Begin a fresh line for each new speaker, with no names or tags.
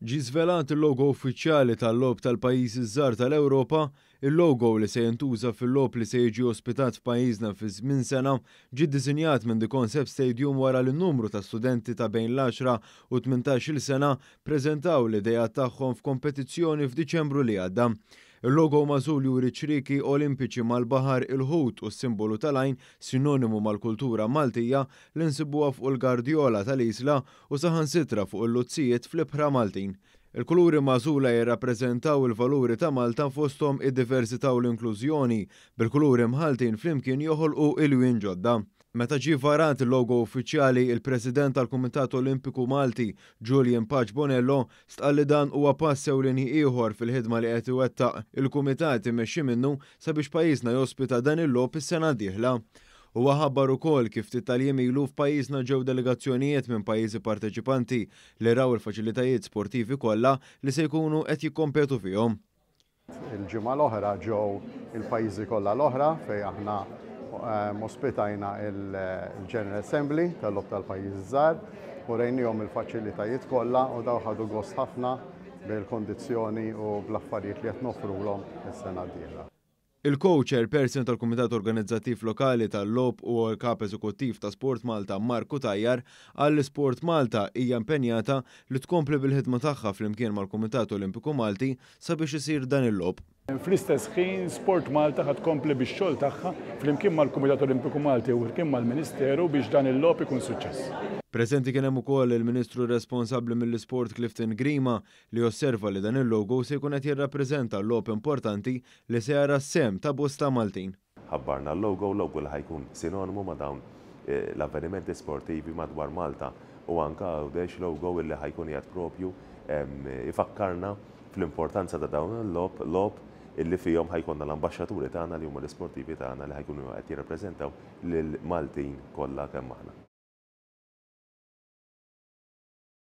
Ġie żvelat il-logo uffiċjali tal-Logħob tal-Pajjiżi ż-Żgħar tal-Ewropa. Il-logo li se jintuża fil-logħob li se jiġi ospitat f'pajjiżna fi żmien sena ġie ddisinjat minn The Concept Stadium wara li numru ta' studenti ta' bejn l-10 u 18-il sena ppreżentaw l-ideat tagħhom f'kompetizzjoni f'Diċembru li għadda. Il-logo magħżul juri ċrieki Olimpiċi mal-baħar, il-ħut u s-simbolu tal-għajn sinonimu mal-kultura Maltija li nsibuha fuq il-gardjola tal-Isla u saħansitra fuq il-luzzijiet fl-ibħra Maltin. Il-kuluri magħżula jirrappreżentaw il-valuri ta' Malta fosthom id-diversità u l-inklużjoni, bil-kuluri mħalltin flimkien joħolqu ilwien ġodda. Meta ġie varat il-logo uffiċjali, il-President tal-Kumitat Olimpiku Malti, Julian Pace Bonello, stqarr li dan huwa pass ewlieni ieħor fil-ħidma li qed iwettaq il-kumitat immexxi minnu sabiex pajjiżna jospita dan il-logħob is-sena d-dieħla. Huwa ħabbar ukoll kif ftit tal-jiem ilu f'pajjiżna ġew delegazzjonijiet minn pajjiżi parteċipanti li raw il-faċilitajiet sportivi kollha li se jkunu qed jikkompetu fihom.
Il-ġimgħa l-oħra ġew il-pajjiżi kollha l-oħra fejn aħna ehm, ospitajna il-General Assembly tal-Logħob tal-Pajjiżi Żgħar u rejnihom il-faċilitajiet kollha u daw ħadu gost ħafna bil-kondizzjoni u bl-affarijiet li qed nofrulhom is-sena d-dieħla.
Il-Co-Chairperson tal-Kumitat Organizzattiv Lokali tal-Logħob u l-Kap Eżekuttiv ta' Sport Malta Mark Cutajar qal li Sport Malta hija impenjata li tkompli bil-ħidma tagħha flimkien mal-Kumitat Olimpiku Malti sabiex isir dan il-logħob.
Fl-istess ħin Sport Malta ħa tkompli bix-xogħol tagħha flimkien mal-Kumitat Olimpiku Malti u flimkien mal-Ministeru biex dan il-logħob ikun suċċess.
Preżenti kien hemm ukoll il-Ministru responsabbli mill-Isport Clifton Grima li osserva li dan il-logo se jkun qed jirrappreżenta logħob importanti li se jara s-sehem ta' bosta Maltin.
Ħabbarna l-logo, logo li ħa jkun sinonimu ma' dawn l-avvenimenti sportivi madwar Malta u anke Għawdex, logo illi ħa jkun qiegħed propju ifakkarna fl-importanza ta' dawn il-logħob, logħob illi fihom ħa jkollna l-ambaxxaturi tagħna li huma l-isportivi tagħna li ħa jkunu qed jirrappreżentaw lill-Maltin kollha kemm aħna.